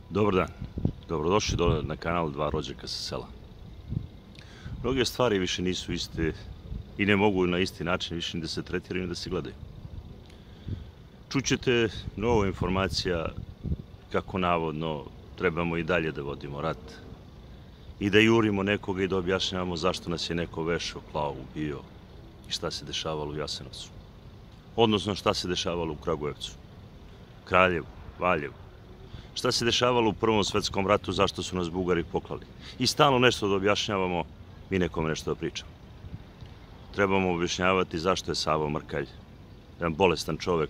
Dobar dan, dobrodošli dole na kanal Dva rođaka sa sela. Mnoge stvari više nisu iste i ne mogu na isti način više ni da se tretiraju ni da se gledaju. Čućete mnogo informacija kako navodno trebamo i dalje da vodimo rat i da jurimo nekoga i da objašnjavamo zašto nas je neko vešao, klao, ubio i šta se dešavalo u Jasenovcu. Odnosno šta se dešavalo u Kragujevcu, Kraljevu, Valjevu. Šta se dešavalo u Prvom svetskom ratu, zašto su nas Bugari poklali. I stalno nešto da objašnjavamo i nekome nešto da pričamo. Trebamo objašnjavati zašto je Savo Mrkalj, jedan bolestan čovek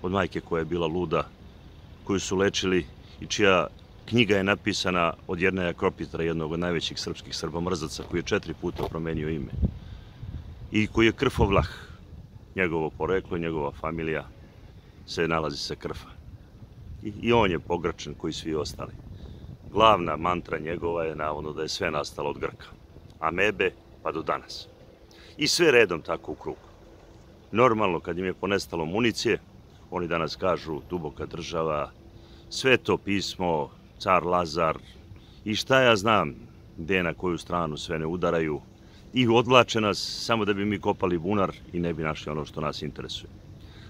od majke koja je bila luda, koju su lečili i čija knjiga je napisana od Jerneja Kropitra, jednog od najvećih srpskih srbomrzaca, koji je 4 puta promenio ime. I koji je krfovlah, njegovo poreklo i njegova familija se nalazi sa Krfa. I on je pogračen koji svi ostali. Glavna mantra njegova je navodno da je sve nastalo od Grka. Amebe pa do danas. I sve redom tako u krug. Normalno kad im je ponestalo municije, oni danas kažu duboka država, Sveto pismo, car Lazar i šta ja znam gde na koju stranu sve ne udaraju i odvlače nas samo da bi mi kopali bunar i ne bi našli ono što nas interesuje.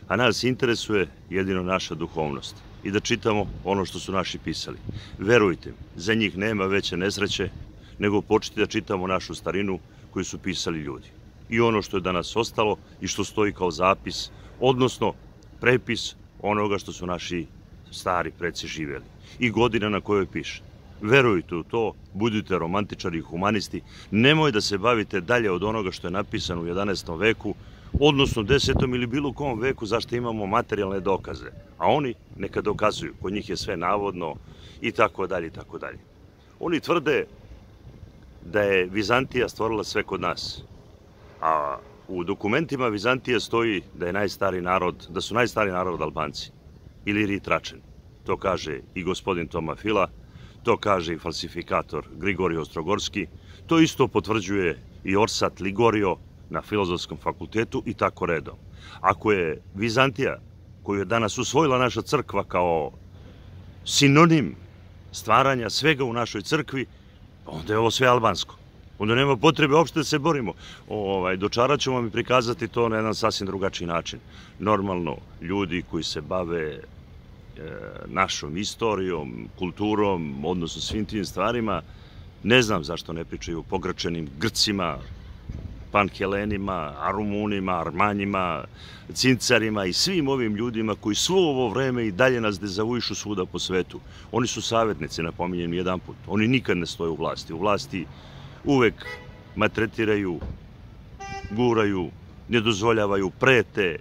A nas interesuje jedino naša duhovnost i da čitamo ono što su naši pisali. Verujte mi, za njih nema veće nesreće nego početi da čitamo našu starinu koju su pisali ljudi. I ono što je danas ostalo i što stoji kao zapis, odnosno prepis onoga što su naši stari preci živjeli. I godina na kojoj piše. Verujte u to, budite romantičari i humanisti, nemoj da se bavite dalje od onoga što je napisano u 11. veku, odnosno 10. ili bilo kom veku zašto imamo materijalne dokaze. A oni neka dokazuju, kod njih je sve navodno i tako dalje i tako dalje. Oni tvrde da je Vizantija stvorila sve kod nas. A u dokumentima Vizantije stoji da je najstari narod, da su najstari narod Albanci ili Ritračani. To kaže i gospodin Toma Fila, to kaže i falsifikator Grigorije Ostrogorski, to isto potvrđuje i Orsat Ligorio na Filozofskom fakultetu i tako redom. Ako je Vizantija, koju je danas usvojila naša crkva kao sinonim stvaranja svega u našoj crkvi, onda je ovo sve albansko. Onda nema potrebe uopšte da se borimo. Dočarat ćemo vam i prikazati to na jedan sasvim drugačiji način. Normalno, ljudi koji se bave našom istorijom, kulturom, odnosno svim tim stvarima, ne znam zašto ne pričaju o pogračenim Grcima, Panhelenima, Rumunima, Armanjima, Cincarima i svim ovim ljudima koji svo ovo vreme i dalje nas dezavuišu svuda po svetu. Oni su savjetnici, napominjem jedan put. Oni nikad ne stoje u vlasti. U vlasti uvek maltretiraju, guraju, ne dozvoljavaju, prete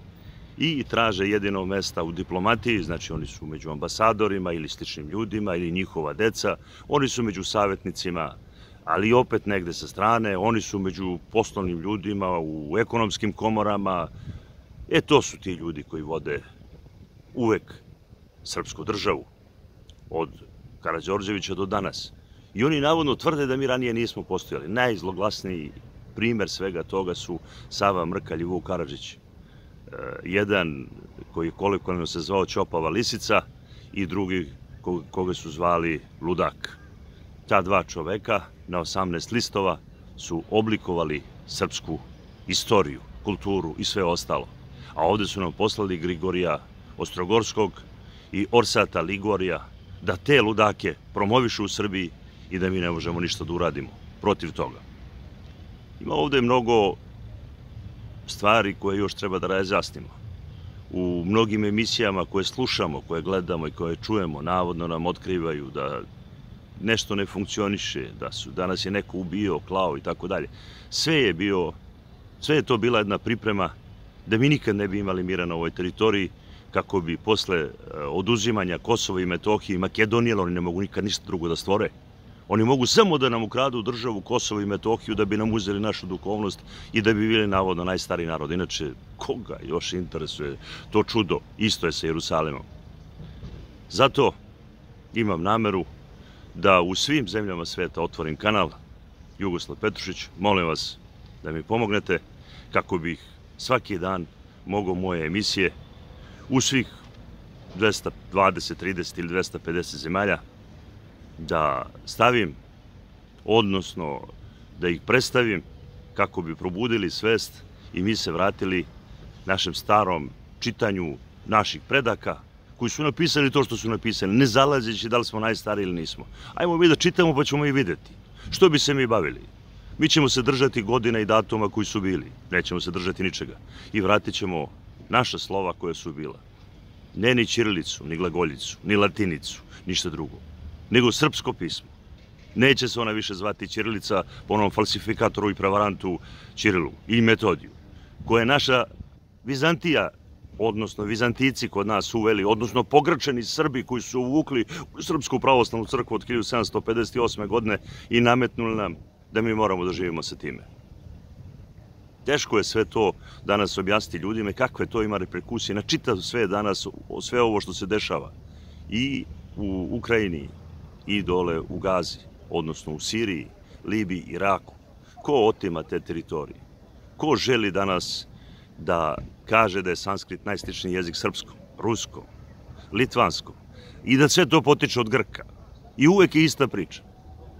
i traže jedino mesta u diplomatiji, znači oni su među ambasadorima ili sličnim ljudima ili njihova deca, oni su među savjetnicima, ali opet negde sa strane, oni su među poslovnim ljudima, u ekonomskim komorama. To su ti ljudi koji vode uvek srpsku državu, od Karađorđevića do danas. I oni navodno tvrde da mi ranije nismo postojali. Najzloglasniji primer svega toga su Sava Mrkalj i Vuk Karadžić. Jedan koji kolokvijalno se zvao Ćopava lisica i drugi koga su zvali Ludak. Ta dva čoveka na 18 listova su oblikovali srpsku istoriju, kulturu i sve ostalo. A ovde su nam poslali Grigorija Ostrogorskog i Orsata Ligorija da te ludake promovišu u Srbiji i da mi ne možemo ništa da uradimo protiv toga. Ima ovde mnogo stvari koje još treba da razjasnimo. U mnogim emisijama koje slušamo, koje gledamo i koje čujemo, navodno nam otkrivaju da nešto ne funkcioniše, da nas je neko ubio, klao i tako dalje. Sve je to bila jedna priprema da mi nikad ne bi imali mira na ovoj teritoriji, kako bi posle oduzimanja Kosova i Metohije i Makedonije, oni ne mogu nikad ništa drugo da stvore. Oni mogu samo da nam ukradu državu Kosovo i Metohiju da bi nam uzeli našu duhovnost i da bi bili navodno najstariji narod. Inače, koga još interesuje to čudo? Isto je sa Jerusalimom. Zato imam nameru da u svim zemljama sveta otvorim kanal Jugoslav Petrušić. Molim vas da mi pomognete kako bih svaki dan mogao moje emisije u svih 220, 30 ili 250 zemalja da stavim, odnosno da ih predstavim kako bi probudili svest i mi se vratili našem starom čitanju naših predaka koji su napisali to što su napisali, ne zalazeći da li smo najstariji ili nismo. Ajmo mi da čitamo pa ćemo i videti. Što bi se mi bavili? Mi ćemo se držati godina i datuma koji su bili. Nećemo se držati ničega. I vratit ćemo naša slova koja su bila. Ne ni ćirilicu, ni glagoljicu, ni latinicu, ništa drugo. Nego srpsko pismo. Neće se ona više zvati ćirilica po onom falsifikatoru i prevarantu Ćirilu i Metodiju, koja je naša Vizantija, odnosno Vizantijci kod nas uveli, odnosno pogrčeni Srbi koji su uvukli u Srpsku pravoslavnu crkvu od 1758. godine i nametnuli nam da mi moramo da živimo sa time. Teško je sve to danas objasniti ljudima kakve to ima reperkusije na čitav sve danas, sve ovo što se dešava i u Ukrajini i dole u Gazi, odnosno u Siriji, Libiji, Iraku. Ko otima te teritorije? Ko želi danas da kaže da je sanskrit najsličniji jezik srpskom, ruskom, litvanskom i da sve to potiče od Grka? I uvek je ista priča.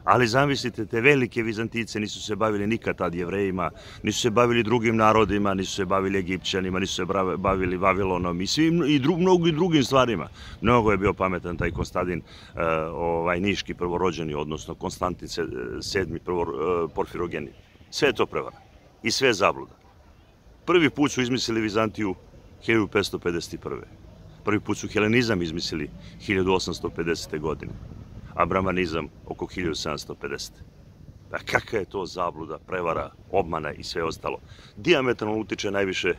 Ali zamislite, te velike Vizantijce nisu se bavili nikad tad Jevrejima, nisu se bavili drugim narodima, nisu se bavili Egipćanima, nisu se bavili Vavilonom i mnogim drugim stvarima. Mnogo je bio pametan taj Konstantin Niški prvorođeni, odnosno Konstantin VII Porfirogeni. Sve je to prevara i sve je zabluda. Prvi put su izmislili Vizantiju 1551. Prvi put su helenizam izmislili 1850. godine, a bramanizam oko 1750. A kakva je to zabluda, prevara, obmana i sve ostalo. Dijametralno utiče najviše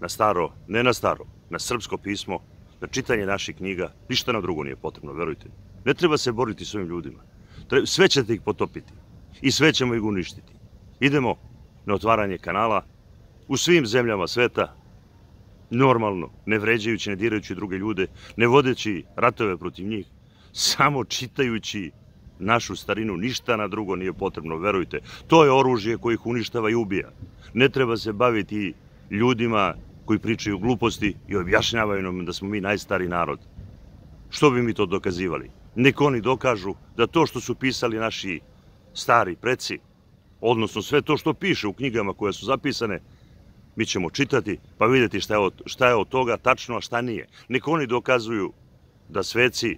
na staro, ne na staro, na srpsko pismo, na čitanje naših knjiga. Ništa nam drugo nije potrebno, verujte. Ne treba se boriti s ovim ljudima. Sve ćete ih potopiti i sve ćemo ih uništiti. Idemo na otvaranje kanala u svim zemljama sveta, normalno, ne vređajući, ne dirajući druge ljude, ne vodeći ratove protiv njih, samo čitajući našu starinu, ništa na drugo nije potrebno, verujte. To je oružje koje ih uništava i ubija. Ne treba se baviti ljudima koji pričaju gluposti i objašnjavaju nam da smo mi najstariji narod. Što bi mi to dokazivali? Nek oni dokažu da to što su pisali naši stari preci, odnosno sve to što piše u knjigama koje su zapisane, mi ćemo čitati pa vidjeti šta je od toga tačno, a šta nije. Nek oni dokazuju da sveci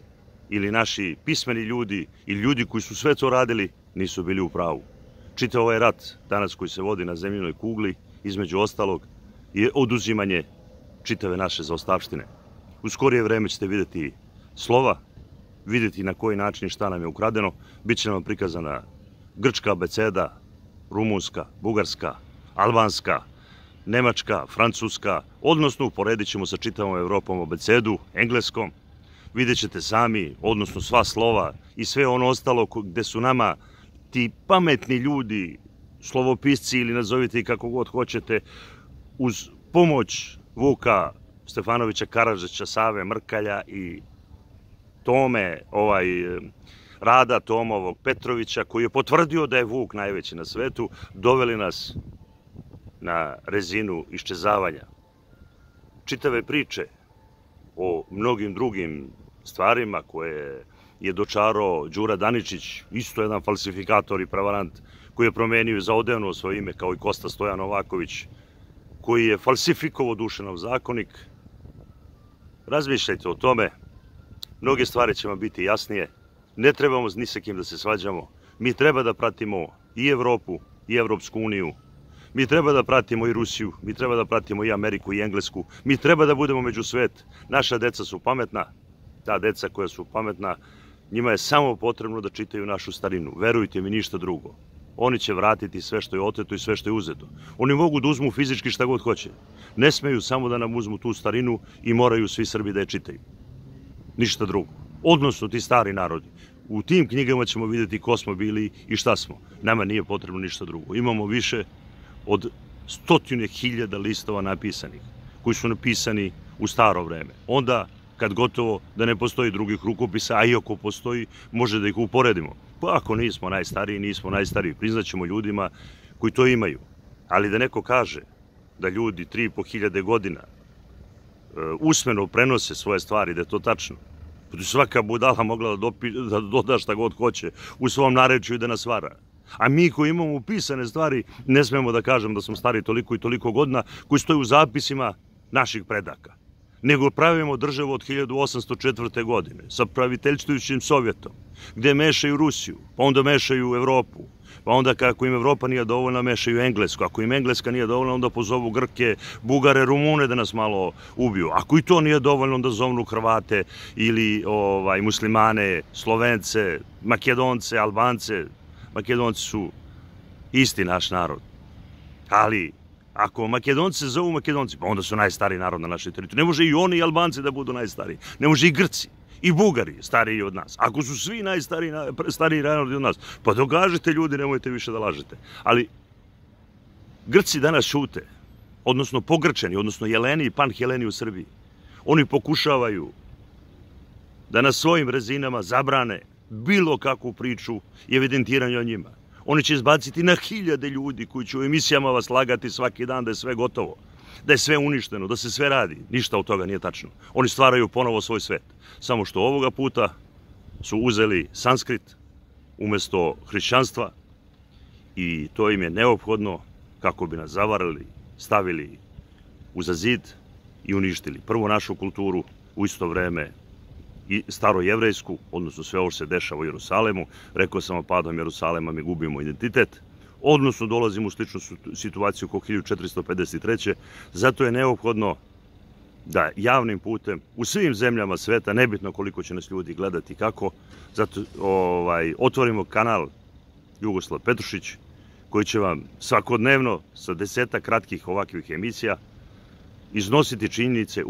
ili naši pismeni ljudi ili ljudi koji su sve to radili nisu bili u pravu. Čitav ovaj rat danas koji se vodi na zemljinoj kugli, između ostalog, je oduzimanje čitave naše zaostavštine. U skorije vreme ćete vidjeti slova, vidjeti na koji način i šta nam je ukradeno. Biće nam prikazana grčka abeceda, rumunska, bugarska, albanska, nemačka, francuska, odnosno uporedit ćemo sa čitavom Evropom abecedu, engleskom. Vidjet ćete sami, odnosno sva slova i sve ono ostalo gde su nama ti pametni ljudi, slovopisci ili nazovite i kako god hoćete, uz pomoć Vuka Stefanovića Karadžića, Save Mrkalja i Tome, Rada Tomovog Petrovića, koji je potvrdio da je Vuk najveći na svetu, doveli nas na rezinu iščezavanja. Čitave priče o mnogim drugim stvarima koje je dočarao Đura Daničić, isto jedan falsifikator i prevarant, koji je promenio i zaodevnuo svoje ime kao i Kosta Stojan Novaković, koji je falsifikovao Dušanov zakonik. Razmišljajte o tome, mnoge stvari će vam biti jasnije, ne trebamo ni sa kim da se svađamo, mi treba da pratimo i Evropu i Evropsku uniju, mi treba da pratimo i Rusiju, mi treba da pratimo i Ameriku i Englesku, mi treba da budemo među svet. Naša deca su pametna, ta deca koja su pametna, njima je samo potrebno da čitaju našu starinu, verujte mi, ništa drugo. Oni će vratiti sve što je oteto i sve što je uzeto. Oni mogu da uzmu fizički šta god hoće. Ne smeju samo da nam uzmu tu starinu i moraju svi Srbi da je čitaju. Ništa drugo. Odnosno ti stari narodi. U tim knjigama ćemo vidjeti ko smo bili i šta smo. Nama nije potrebno ništa drugo. Imamo više od 100.000 listova napisanih, koji su napisani u staro vreme. Onda, kad gotovo da ne postoji drugih rukopisa, a i ako postoji, može da ih uporedimo. Pa ako nismo najstariji, nismo najstariji. Priznaćemo ljudima koji to imaju. Ali da neko kaže da ljudi 3.500 godina usmeno prenose svoje stvari, da je to tačno, Svaka budala mogla da doda šta god hoće u svom narečju i da nas vara. A mi koji imamo upisane stvari ne smemo da kažem da smo stari toliko i toliko godina koji stoji u zapisima naših predaka. Nego pravimo državu od 1804. godine sa praviteljstvujućim Sovjetom, gde mešaju Rusiju, pa onda mešaju Evropu, pa onda kako im Evropa nije dovoljna mešaju Englesku, ako im Engleska nije dovoljna onda pozovu Grke, Bugare, Rumune da nas malo ubiju. Ako i to nije dovoljno onda zovnu Hrvate ili muslimane, Slovence, Makedonce, Albance. Makedonci su isti naš narod, ali ako Makedonci se zovu Makedonci, pa onda su najstariji narod na našoj teritoriji. Ne može i oni i Albanci da budu najstariji, ne može i Grci i Bugari stariji od nas. Ako su svi stariji narodi od nas, pa dogažite ljudi, nemojte više da lažete. Ali Grci danas šute, odnosno pogrčeni, odnosno Jeleni i Panheleni u Srbiji. Oni pokušavaju da na svojim rezinama zabrane bilo kakvu priču i evidentiranje o njima. Oni će izbaciti na hiljade ljudi koji će u emisijama vas lagati svaki dan da je sve gotovo, da je sve uništeno, da se sve radi. Ništa od toga nije tačno. Oni stvaraju ponovo svoj svet. Samo što ovoga puta su uzeli sanskrit umesto hrišćanstva i to im je neophodno kako bi nas zavarali, stavili uza zid i uništili prvo našu kulturu, u isto vreme i starojevrejsku, odnosno sve ovo što se dešava u Jerusalemu. Rekao sam, padom Jerusalema mi gubimo identitet, odnosno dolazimo u sličnu situaciju kao 1453. Zato je neophodno da javnim putem u svim zemljama sveta, nebitno koliko će nas ljudi gledati kako, zato otvorimo kanal Jugoslav Petrušić, koji će vam svakodnevno sa 10 kratkih ovakvih emisija iznositi činjenice,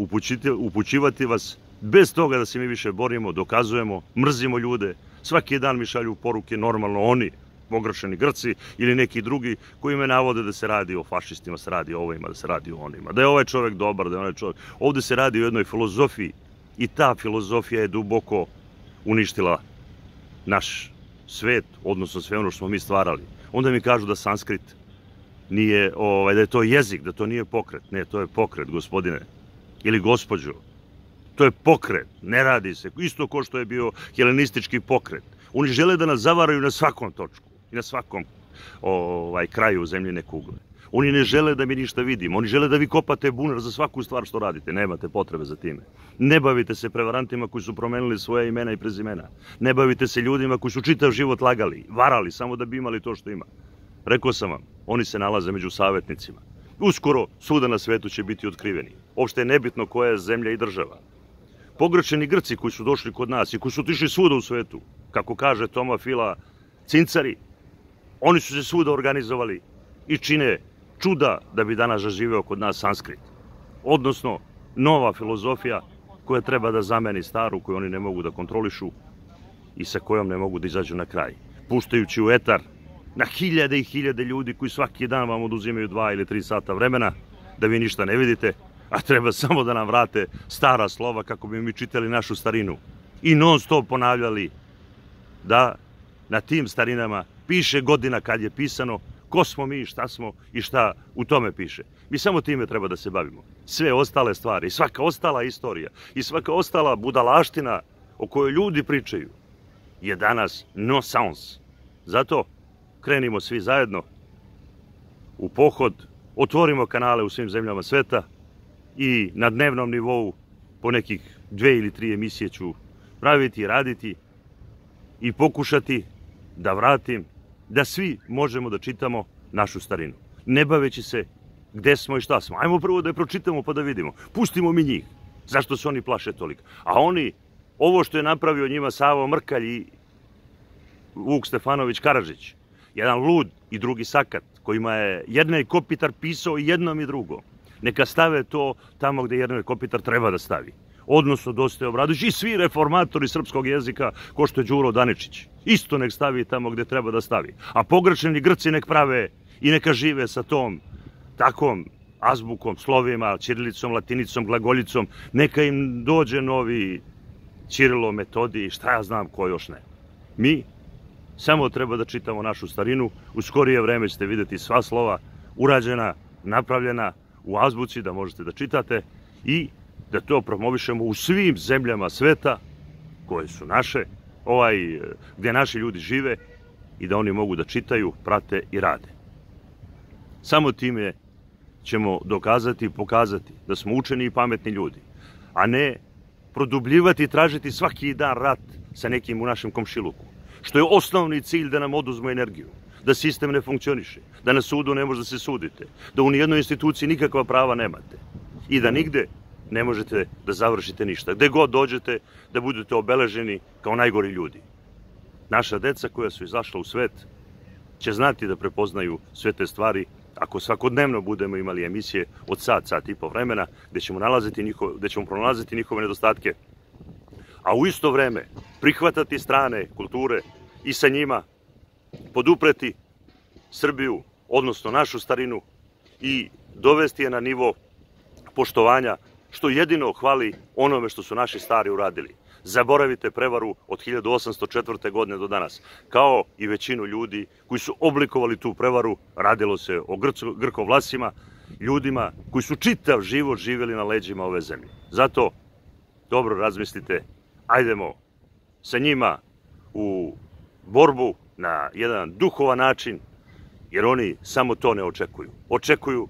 upućivati vas, bez toga da se mi više borimo, dokazujemo, mrzimo ljude. Svaki dan mi šalju poruke, normalno oni, pogrešeni Grci ili neki drugi koji me navode da se radi o fašistima, se radi o ovima, da se radi o onima, da je ovaj čovjek dobar, da je onaj čovjek. Ovde se radi o jednoj filozofiji i ta filozofija je duboko uništila naš svet, odnosno sve ono što smo mi stvarali. Onda mi kažu da sanskrit nije, da je to jezik, da to nije pokret. Ne, to je pokret, gospodine ili gospođo. To je pokret, ne radi se. Isto kao što je bio helenistički pokret. Oni žele da nas zavaraju na svakom točku i na svakom kraju zemljine kugle. Oni ne žele da mi ništa vidimo. Oni žele da vi kopate bunar za svaku stvar što radite. Nemate potrebe za time. Ne bavite se prevarantima koji su promenili svoje imena i prezimena. Ne bavite se ljudima koji su čitav život lagali, varali, samo da bi imali to što ima. Rekao sam vam, oni se nalaze među savjetnicima. Uskoro svuda na svetu će biti otkriveni. Uopšte je nebitno koja je zemlja i država. Pogrešeni Grci koji su došli kod nas i koji su otišli svuda u svetu, kako kaže Toma Fila, cincari, oni su se svuda organizovali i čine čuda da bi danas zaživeo kod nas sanskrit. Odnosno, nova filozofija koja treba da zameni staru, koju oni ne mogu da kontrolišu i sa kojom ne mogu da izađu na kraj. Puštajući u etar na hiljade i hiljade ljudi koji svaki dan vam oduzimaju 2 ili 3 sata vremena da vi ništa ne vidite, a treba samo da nam vrate stara slova kako bi mi čitali našu starinu i non stop ponavljali da na tim starinama piše godina kad je pisano, ko smo mi, šta smo i šta u tome piše. Mi samo time treba da se bavimo. Sve ostale stvari, svaka ostala istorija i svaka ostala budalaština o kojoj ljudi pričaju je danas nonsens. Zato krenimo svi zajedno u pohod, otvorimo kanale u svim zemljama sveta i na dnevnom nivou po nekih 2 ili 3 emisije ću praviti i raditi i pokušati da vratim da svi možemo da čitamo našu starinu. Ne baveći se gde smo i šta smo. Ajmo prvo da je pročitamo pa da vidimo. Pustimo mi njih. Zašto se oni plaše toliko? A oni, ovo što je napravio njima Savo Mrkalj i Vuk Stefanović Karadžić, jedan lud i drugi sakat, kojima je Jernej Kopitar pisao i jednom i drugom, neka stave to tamo gde Jernej Kopitar treba da stavi. Odnosno Dositej Obradović i svi reformatori srpskog jezika, ko što je Đuro Daničić. Isto nek stavi tamo gde treba da stavi. A pogrešeni Grci nek prave i neka žive sa tom takvom azbukom, slovima, ćirilicom, latinicom, glagoljicom. Neka im dođe novi Ćirilo, Metodij, šta ja znam ko još ne. Mi samo treba da čitamo našu starinu. U skorije vreme ćete vidjeti sva slova urađena, napravljena u azbuci da možete da čitate i da to promovišemo u svim zemljama sveta koje su naše, gdje naši ljudi žive i da oni mogu da čitaju, prate i rade. Samo time ćemo dokazati i pokazati da smo učeni i pametni ljudi, a ne produbljivati i tražiti svaki dan rat sa nekim u našem komšiluku, što je osnovni cilj da nam oduzmu energiju, da sistem ne funkcioniše, da na sudu ne može da se sudite, da u nijednoj instituciji nikakva prava nemate i da nigde ne možete da završite ništa. Gde god dođete da budete obeleženi kao najgori ljudi. Naša deca koja su izašla u svet će znati da prepoznaju sve te stvari ako svakodnevno budemo imali emisije od sat i po vremena gde ćemo pronalaziti njihove nedostatke, a u isto vreme prihvatati strane kulture i sa njima podupreti Srbiju, odnosno našu starinu i dovesti je na nivo poštovanja, što jedino hvali onome što su naši stari uradili. Zaboravite prevaru od 1804. godine do danas, kao i većinu ljudi koji su oblikovali tu prevaru. Radilo se o Grkovlasima, ljudima koji su čitav život živjeli na leđima ove zemlje. Zato dobro razmislite, ajdemo sa njima u borbu na jedan duhovan način, jer oni samo to ne očekuju. Očekuju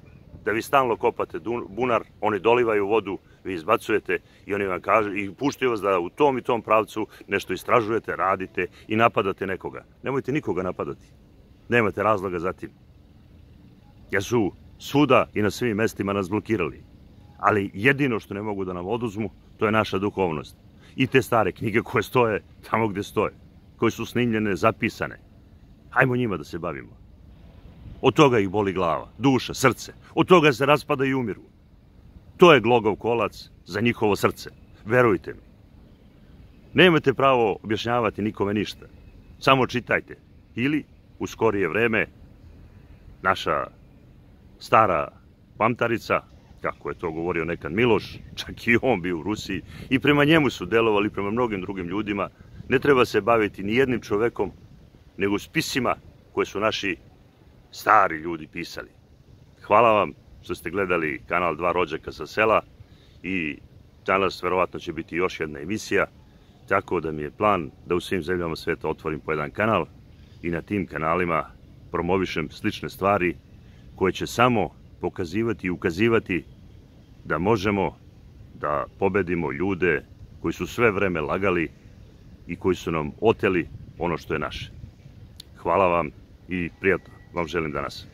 da vi stalno kopate bunar, oni dolivaju vodu, vi izbacujete i oni vam kažu i puštaju vas da u tom i tom pravcu nešto istražujete, radite i napadate nekoga. Nemojte nikoga napadati. Nemate razloga za tim. Jer su svuda i na svim mestima nas blokirali. Ali jedino što ne mogu da nam oduzmu, to je naša duhovnost. I te stare knjige koje stoje tamo gde stoje, koje su snimljene, zapisane. Hajmo njima da se bavimo. Od toga ih boli glava, duša, srce. Od toga se raspada i umiru. To je glogov kolac za njihovo srce. Verujte mi. Nemate pravo objašnjavati nikome ništa. Samo čitajte. Ili, u skorije vreme, naša stara pamtarica, kako je to govorio nekad Miloš, čak i on bio u Rusiji, i prema njemu su delovali, prema mnogim drugim ljudima, ne treba se baviti ni jednim čovekom, nego spisima koje su naši stari ljudi pisali. Hvala vam što ste gledali kanal Dva rođaka sa sela i danas verovatno će biti još jedna emisija, tako da mi je plan da u svim zemljama sveta otvorim po jedan kanal i na tim kanalima promovišem slične stvari koje će samo pokazivati i ukazivati da možemo da pobedimo ljude koji su sve vreme lagali i koji su nam oteli ono što je naše. Hvala vam i prijatno vam želim danas.